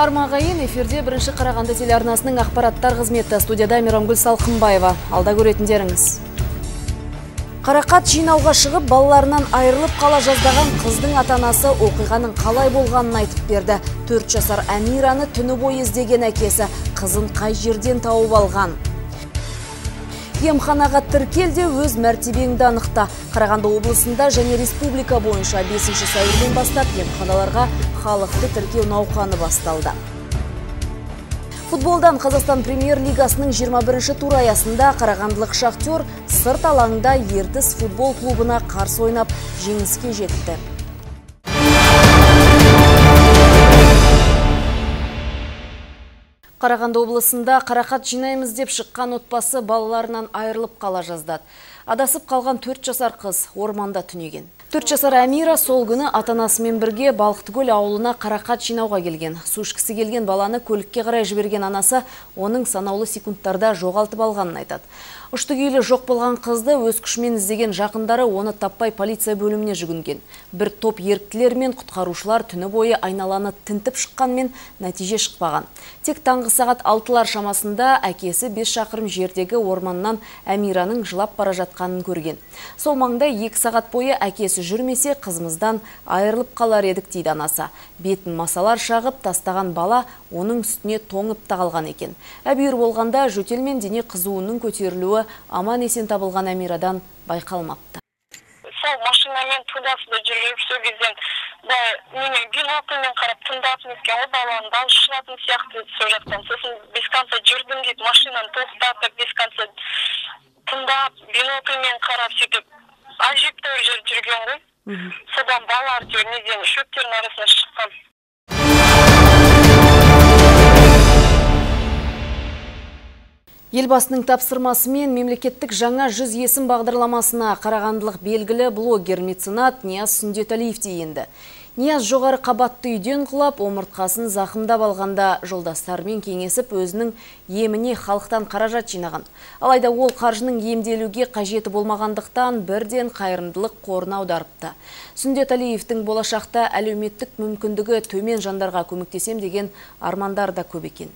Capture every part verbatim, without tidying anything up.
Армағайын эфирде бірінші Қарағанды телеарнасының ақпараттар қызметі. Студияда Мейрамгүл Салқынбаева. Алда көретіндеріңіз. Қарақат жинауға шығып, балаларынан айырылып қала жаздаған қыздың ата-анасы оқиғаның қалай болғанын айтып берді. төрт жасар Әмираны түні бойы іздеген әкесі қызын қай жерден тауып алған. Емханаға тіркелде өз мәртебеңді анықта. Қарағанды облысында және республика бойынша бесінші сәуірден бастап емханаларға халықты тіркеу науқаны басталды. Футболдан Қазақстан премьер-лигасының жиырма бірінші тур аясында қарағандылық Шахтер сырт алаңда Ертіс футбол клубына қарсы ойнап жеңіске жетті. Қарағанды облысында қарақат жинаймыз деп шыққан отбасы балаларынан айырылып қала жаздады. Адасып қалған төрт жасар қыз орманда түнеген. төрт жасар Әмира сол күні ата-анасымен бірге Балықтыкөл ауылына қарақат жинауға келген. Су ішкісі келген баланы көлікке қарай жіберген анасы оның санаулы секундтарда жоғалтып алғанын айтады. Ұшты-күйлі жоқ болған қызды өз күшімен іздеген жақындары оны таппай полиция бөліміне жүгінген. Бір топ еріктілер мен құтқарушылар түні бойы айналаны тінтіп шыққанмен нәтиже шықпаған. Тек таңғы сағат алтылар шамасында әкесі бес шақырым жердегі орманнан Әмираның жылап бара жатқанын көрген. Сол маңда екі сағат бойы әкесі жүрмесе қызымыздан айырылып қалар едік дейді анасы. Бетін масалар шағып тастаған бала оның үстіне тоңып тағалған екен. Әбүйір болғанда жөтел мен дене қызуының көтерілуі аман есен табылған Әмирадан байқалмапты. Сол машинамен тудасында жүріп сол кезден немен бинокулмен қарап тыңдап неткен ол баланы дауыс шығатын сияқты сол жақтан. Сосын без конца жүрдім дейді, машинаны тоқтатып без конца тыңдап бинокулмен қарап сөйтіп ажептәуір жер жүрген ғой. Содан балалар неден шөптердің арасына шыққан. Елбасының тапсырмасымен мемлекеттік жаңа жүз есім бағдарламасына қарағандылық белгілі блогер меценат Нияз Сүндетәлиев енді. Нияз жоғары қабатты үйден құлап, омыртқасын зақымдап алғанда жолдастарымен кеңесіп өзінің еміне халықтан қаражат жинаған. Алайда ол қаржының емделуге қажеті болмағандықтан бірден қайырымдылық қорына аударыпты. Сүндетәлиевтің болашақта әлеуметтік мүмкіндігі төмен жандарға көмектесем деген армандар да көп екен.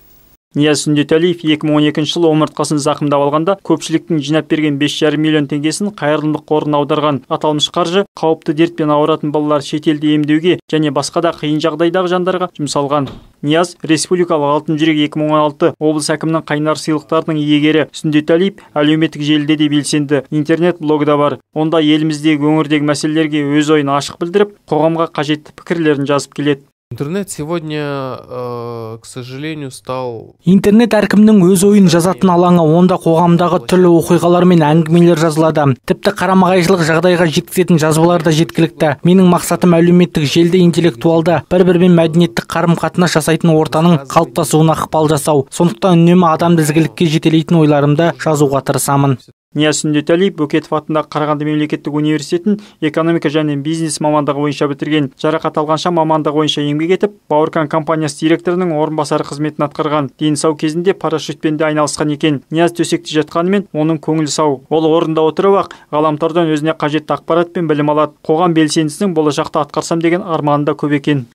Нияз Сүндетәлиев екі мың он екінші жылы омыртқасын зақымдап алғанда көпшіліктің жинап берген бес жарым миллион теңгесін қайырымдылық қорына аударған. Аталмыш қаржы қауіпті дертпен ауыратын балалар шетелде емдеуге және басқа да қиын жағдайдағы жандарға жұмсалған. Нияз республикалық алтын жүрек екі мың он алты облыс әкімінің қайнар сыйлықтарының иегері. Сүндетәлиев әлеуметтік желіде де белсенді. Интернет блогы да бар. Онда еліміздегі өңірдегі мәселелерге өз ойын ашық білдіріп, қоғамға қажетті пікірлерін жазып келеді. Интернет сегодня, э, к сожалению, стал... Интернет әркімнің өз ойын жазатын алаңы, онда қоғамдағы түрлі оқиғалар мен әңгімелер жазылады. Тіпті қарама-қайшылық жағдайға жеткізетін жазбалар да жеткілікті. Менің мақсатым әлеуметтік желіде интеллектуалды, бір-бірімен мәдениеттік қарым-қатынас жасайтын ортаның қалыптасуына ықпал жасау. Сондықтан үнемі адамды ізгілікке жетелейтін ойларымды жазуға тырысамын. Нияз Сүндетәлиев Бөкетов атындағы Қарағанды мемлекеттік университетін экономика және бизнес мамандығы бойынша бітірген. Жарақат алғанша мамандығы бойынша еңбек етіп, Бауыркан компаниясы директорының орынбасары қызметін атқарған. Дені сау кезінде парашютпен де айналысқан екен. Нияз төсекте жатқанымен оның көңілі сау. Ол орында отырып-ақ ғаламтордан өзіне қажетті ақпарат пен білім алады. Қоғам белсендісінің болашақта атқарсам деген арманы да көп екен.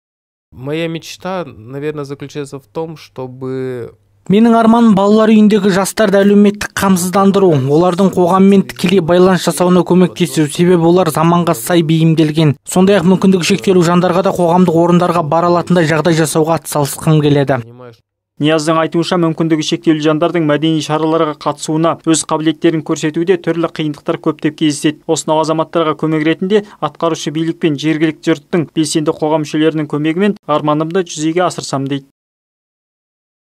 Моя мечта, наверное, заключается в том, чтобы... Менің арманым балалар үйіндегі жастарды әлеуметтік қамсыздандыру, олардың қоғаммен тікелей байланыс жасауына көмектесу, себебі олар заманға сай бейімделген. Сондай-ақ мүмкіндігі шектеулі жандарға да қоғамдық орындарға бара алатындай жағдай жасауға атсалысқым келеді. Нияздың айтуынша мүмкіндігі шектеулі жандардың мәдени шараларға қатысуына, өз қабілеттерін көрсетуде түрлі қиындықтар көптеп кездеседі. Осынау азаматтарға көмек ретінде атқарушы билік пен жергілікті жұрттың белсенді қоғам мүшелерінің көмегімен арманымды жүзеге асырсам дейді.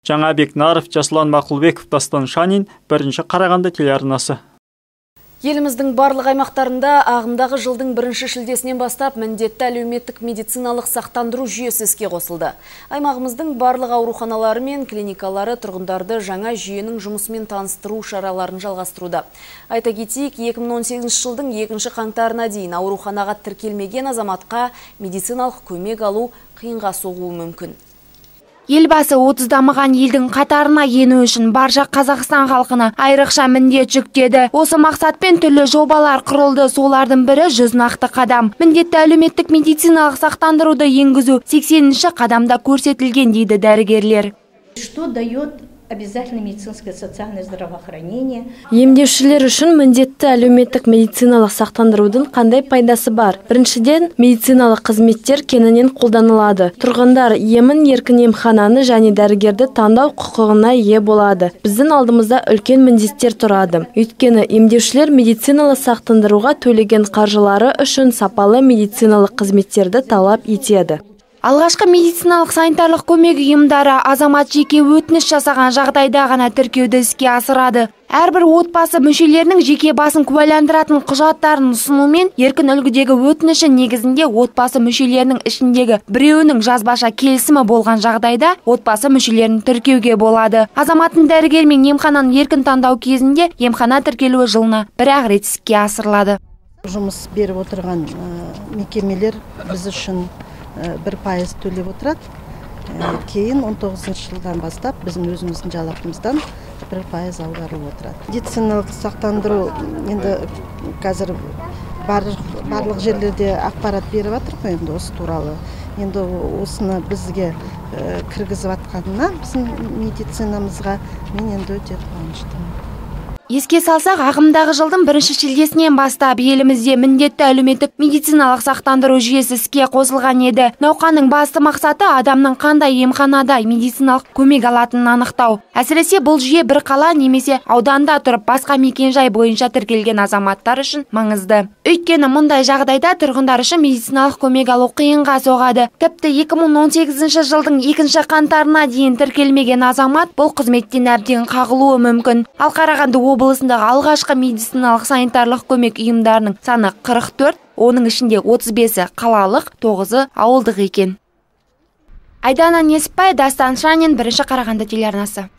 Жаңабек Наров, Жасұлан Мақұлбеков, Дастан Шанин, бірінші Қарағанды телеарнасы. Еліміздің барлық аймақтарында ағымдағы жылдың бірінші шілдесінен бастап міндетті әлеуметтік медициналық сақтандыру жүйесі іске қосылды. Аймағымыздың барлық ауруханалары мен клиникалары тұрғындарды жаңа жүйенің жұмысымен таныстыру шараларын жалғастыруда. Айта кетейік, екі мың он сегізінші жылдың екінші қаңтарына дейін ауруханаға тіркелмеген азаматқа медициналық көмек алу қиынға соғуы мүмкін. Елбасы отыз дамыған елдің қатарына ену үшін барша Қазақстан халқына айрықша міндет жүктеді. Осы мақсатпен түрлі жобалар құрылды. Солардың бірі жүз нақты қадам. Міндетті әлеуметтік медициналық сақтандыруды енгізу сексенінші қадамда көрсетілген дейді дәрігерлер. Что дает обязательное медицинское социальное здравоохранение? Емдеушілер үшін міндетті әлеуметтік медициналық сақтандырудың қандай пайдасы бар? Біріншіден, медициналық қызметтер кеңінен қолданылады. Тұрғындар емін еркін емхананы және дәрігерді таңдау құқығына ие болады. Біздің алдымызда үлкен міндеттер тұрады. Өйткені емдеушілер медициналық сақтандыруға төлеген қаржылары үшін сапалы медициналық қызметтерді талап етеді. Алғашқы медициналық санитарлық көмек ұйымдары азамат жеке өтініш жасаған жағдайда ғана тіркеуді іске асырады. Әрбір отбасы мүшелерінің жеке басын куәландыратын құжаттарын ұсынумен еркін үлгідегі өтініші негізінде отбасы мүшелерінің ішіндегі біреуінің жазбаша келісімі болған жағдайда отбасы мүшелерін тіркеуге болады. Азаматтың дәрігер мен емхананың еркін таңдау кезінде емхана тіркелуі жылына бір-ақ рет іске асырылады. Жұмыс беріп отырған мекемелер біз үшін бір пайыз төлеп отырады. Кейін он тоғызыншы жылдан бастап біздің өзіміздің жалақымыздан бір пайыз аударылып отырады. Медициналық сақтандыру енді қазір барлық жерлерде ақпарат беріп жатыр ғой енді осы туралы. Енді осыны бізге кіргізіп жатқанына біздің медицинамызға мен енді өте қуаныштымын. Еске салсақ, ағымдағы жылдың бірінші шілдесінен бастап елімізде міндетті әлеуметтік медициналық сақтандыру жүйесі іске қосылған еді. Науқанның басты мақсаты адамның қандай емханада медициналық көмек алатынын анықтау. Әсіресе бұл жүйе бір қала немесе ауданда тұрып басқа мекенжай бойынша тіркелген азаматтар үшін маңызды. Өйткені мұндай жағдайда тұрғындар үшін медициналық көмек алу қиынға соғады. Тіпті екі мың он сегізінші жылдың екінші қаңтарына дейін тіркелмеген азамат бұл қызметтен әбден қағылуы мүмкін. Ал Қарағанды облысындағы алғашқы медициналық санитарлық көмек ұйымдарының саны қырық төрт, оның ішінде отыз бесі қалалық, тоғызы ауылдық екен. Айдана Несіпбай, Дастан Шанин, бірінші Қарағанды телеарнасы.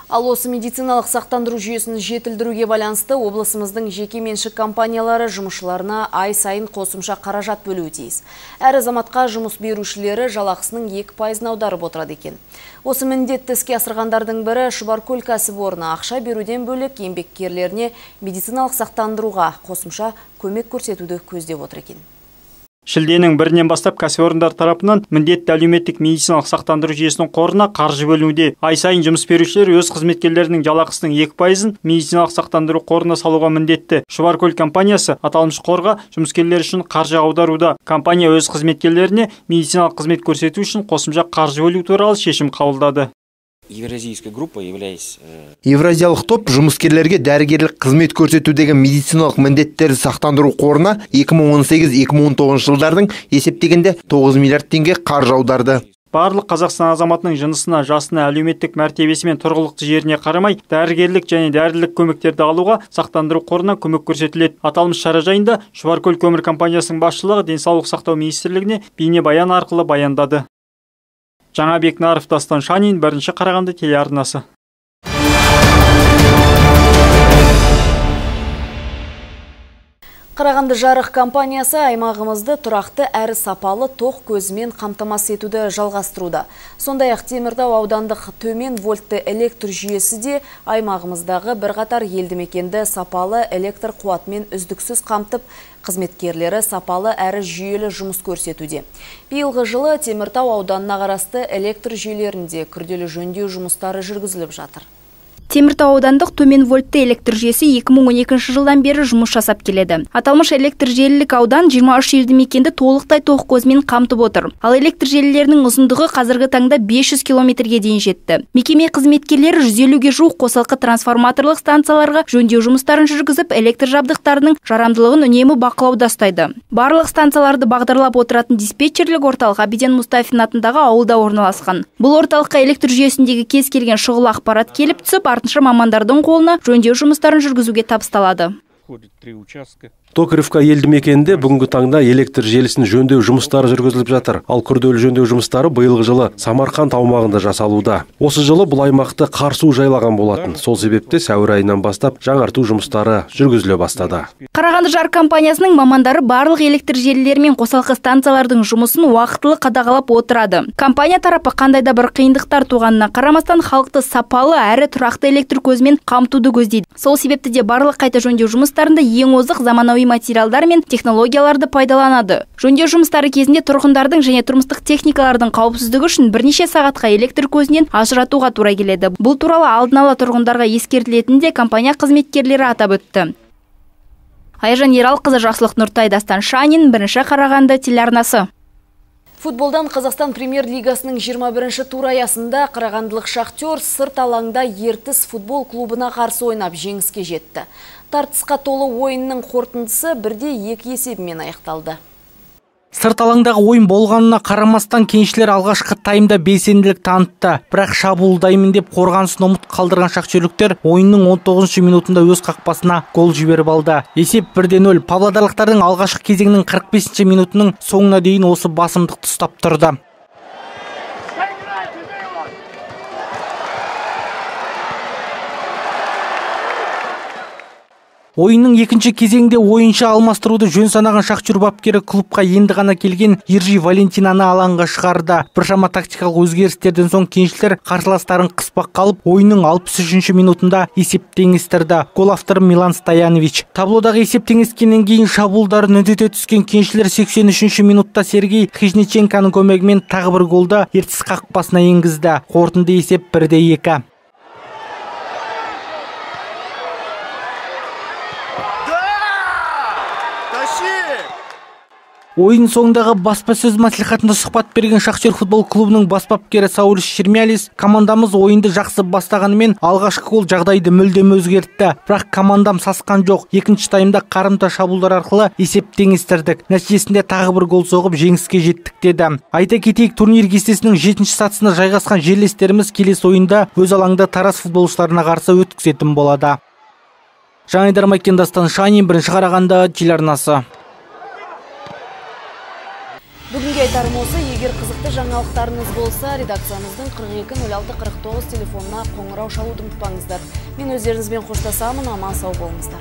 Ал осы медициналық сақтандыру жүйесін жетілдіруге байланысты облысымыздың жеке меншік компаниялары жұмысшыларына ай сайын қосымша қаражат бөлуі тиіс. Әр азаматқа жұмыс берушілері жалақысының екі пайызын аударып отырады екен. Осы міндетті іске асырғандардың бірі Шұбаркөл кәсіпорны ақша беруден бөлек еңбеккерлеріне медициналық сақтандыруға қосымша көмек көрсетуді көздеп отыр екен. Шілденің бірінен бастап кәсіпорындар тарапынан міндетті әлеуметтік медициналық сақтандыру жүйесінің қорына қаржы бөлінуде. Ай сайын жұмыс берушілер өз қызметкерлерінің жалақысының екі пайызын медициналық сақтандыру қорына салуға міндетті. Шұбаркөл компаниясы аталмыш қорға жұмыскерлер үшін қаржы аударуда. Компания өз қызметкерлеріне медициналық қызмет көрсету үшін қосымша қаржы бөлу туралы шешім қабылдады. Евразийская группа являясь... Евразиялық топ жұмыскерлерге дәрігерлік қызмет көрсетудегі медициналық міндеттерді сақтандыру қорына екі мың он сегіз екі мың он тоғызыншы жылдардың есептегенде тоғыз миллиард теңге қаржы аударды. Барлық Қазақстан азаматының жынысына, жасына, әлеуметтік мәртебесі мен тұрғылықты жеріне қарамай, дәрігерлік және дәрілік көмектерді алуға сақтандыру қорына көмек көрсетіледі. Аталмыш шара жайында Шұбаркөл көмір компаниясының басшылығы Денсаулық сақтау министрлігіне бейнебаян арқылы баяндады. Жаңабек Наров, Дастан Шанин, бірінші Қарағанды телеарнасы. Қарағанды жарық компаниясы аймағымызды тұрақты әрі сапалы тоқ көзімен қамтамасыз етуді жалғастыруда. Сондай-ақ Теміртау аудандық төмен вольтты электр жүйесі де аймағымыздағы бірқатар елді мекенді сапалы электр қуатымен үздіксіз қамтып, қызметкерлері сапалы әрі жүйелі жұмыс көрсетуде. Биылғы жылы Теміртау ауданына қарасты электр жүйелерінде күрделі жөндеу жұмыстары жүргізіліп жатыр. Теміртау аудандық төмен вольтты электр жүйесі екі мың он екінші жылдан бері жұмыс жасап келеді. Аталмыш электр желілік аудан жиырма үш елді мекенді толықтай тоқ көзімен қамтып отыр. Ал электр желілерінің ұзындығы қазіргі таңда бес жүз километрге дейін жетті. Мекеме қызметкерлері жүз елуге жуық қосалқы трансформаторлық станцияларға жөндеу жұмыстарын жүргізіп, электр жабдықтарының жарамдылығын үнемі бақылауда ұстайды. Барлық станцияларды бағдарлап отыратын диспетчерлік орталық Абиден Мустафин атындағы ауылда орналасқан. Бұл орталыққа электр жүйесіндегі кез келген шұғыл ақпарат келіп түсіп, артынша мамандардың қолына жөндеу жұмыстарын жүргізуге табысталады. проходит три участка. Токаревка елді мекенінде бүгінгі таңда электр желісін жөндеу жұмыстары жүргізіліп жатыр. Ал күрделі жөндеу жұмыстары биылғы жылы Самарқанд аумағында жасалуда. Осы жылы бұл аймақты қар су жайлаған болатын. Сол себепте сәуір айынан бастап жаңарту жұмыстары жүргізіле бастады. Қарағанды Жар компаниясының мамандары барлық электр желілері мен қосалқы станциялардың жұмысын уақытылы қадағалап отырады. Компания тарапы қандай да бір қиындықтар туғанына қарамастан халықты сапалы әрі тұрақты электр көзімен қамтуды көздейді. Сол себепті де барлық қайта жөндеу жұмыстарында ең озық заманауи материалдар мен технологияларды пайдаланады. Жөндеу жұмыстары кезінде тұрғындардың және тұрмыстық техникалардың қауіпсіздігі үшін бірнеше сағатқа электр көзінен ажыратуға тура келеді. Бұл туралы алдын ала тұрғындарға ескертілетінін де компания қызметкерлері атап өтті. Айжан Ералқызы, Жақсылық Нұртай, Дастан Шанин, бірінші Қарағанды телеарнасы. Футболдан Қазақстан премьер-лигасының жиырма бірінші тур аясында қарағандылық Шахтер сырт алаңда Ертіс футбол клубына қарсы ойнап жеңіске жетті. Тартысқа толы ойынның қорытындысы бірде екі есебімен аяқталды. Сырт алаңдағы ойын болғанына қарамастан кеншілер алғашқы таймда белсенділік танытты. Бірақ шабуылдаймын деп қорғанысын ұмыт қалдырған шахтерліктер ойынның он тоғызыншы минутында өз қақпасына гол жіберіп алды. Есеп бірде нөл. Павлодарлықтардың алғашқы кезеңнің қырық бесінші минутының соңына дейін осы басымдықты ұстап тұрды. Ойынның екінші кезеңде ойыншы алмастыруды жөн санаған Шахтер бапкері клубқа енді ғана келген Ержи Валентинаны алаңға шығарды. Біршама тактикалық өзгерістерден соң кеншілер қарсыластарын қыспақ қалып, ойынның алпыс үшінші минутында есеп теңестірді. Гол авторы Милан Стоянович. Таблодағы есеп теңескеннен кейін шабуылдарын үдете түскен кеншілер сексен үшінші минутта Сергей Хижниченконың көмегімен тағы бір голды Ертіс қақпасына енгізді. Қорытынды есеп бірде екі. Ойын соңындағы баспасөз мәслихатында сұхбат берген Шахтер футбол клубының бас бапкері Сауль Шермялис, командамыз ойынды жақсы бастағанымен алғашқы гол жағдайды мүлдем өзгертті. Бірақ командам сасқан жоқ. Екінші таймда қарымта шабуылдар арқылы есеп теңестірдік. Нәтижесінде тағы бір гол соғып жеңіске жеттік деді. Айта кетейік, турнир кестесінің жетінші сатысына жайғасқан жерлестеріміз келесі ойында өз алаңда Тараз футболшыларына қарсы өткізетін болады. Жаңайдар Майкен, Дастан Шанин, бірінші Қарағанды телеарнасы. Бүгінге айтарым осы, егер қызықты жаңалықтарыңыз болса, редакциямыздың қырық екі нөл алты қырық тоғыз телефонына қоңырау шалуды ұмытпаңыздар. Мен өздеріңізбен қоштасамын, аман сау болыңыздар.